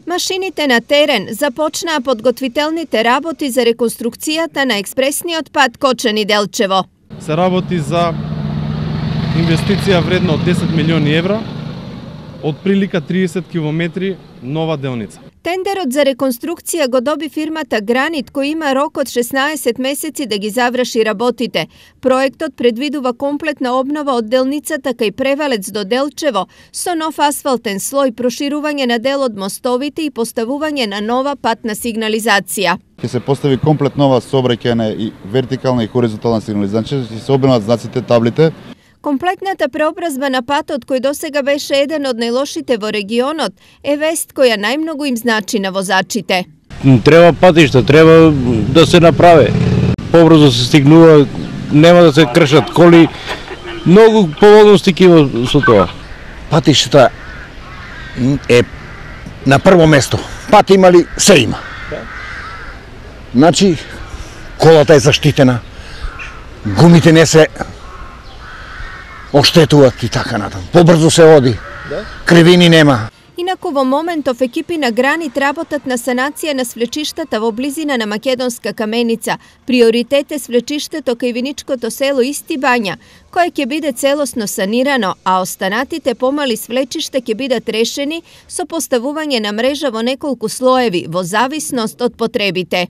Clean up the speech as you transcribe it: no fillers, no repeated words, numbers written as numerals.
Машините на терен започнаа подготвителните работи за реконструкцијата на експресниот пат Кочани-Делчево. Се работи за инвестиција вредна од 10 милиони евра, од прилика 30 километри нова делница. Тендерот за реконструкција го доби фирмата Гранит, кој има рок од 16 месеци да ги заврши работите. Проектот предвидува комплетна обнова од делницата кај Превалец до Делчево, со нов асфалтен слој, проширување на дел од мостовите и поставување на нова патна сигнализација. Ќе се постави комплет нова сообраќајна и вертикална и хоризонтална сигнализација, ќе се обноват знаците, таблите. Комплетната преобразба на патот, кој досега беше еден од најлошите во регионот, е вест која најмногу им значи на возачите. Треба патишта, треба да се направи. Побрзо се стигнува, нема да се кршат коли, многу поволности ќе има со тоа. Патиштата е на прво место. Пат има ли? Се има. Значи, колата е заштитена, гумите не се оштетуваат и така натаму. Побрзо се оди, кривини нема. Инаку во моментов екипи на Гранит работат на санација на свлечиштата во близина на Македонска каменица. Приоритет е свлечиштето кај виничкото село Исти Бања, кое ќе биде целосно санирано, а останатите помали свлечишта ќе бидат решени со поставување на мрежа во неколку слоеви, во зависност од потребите.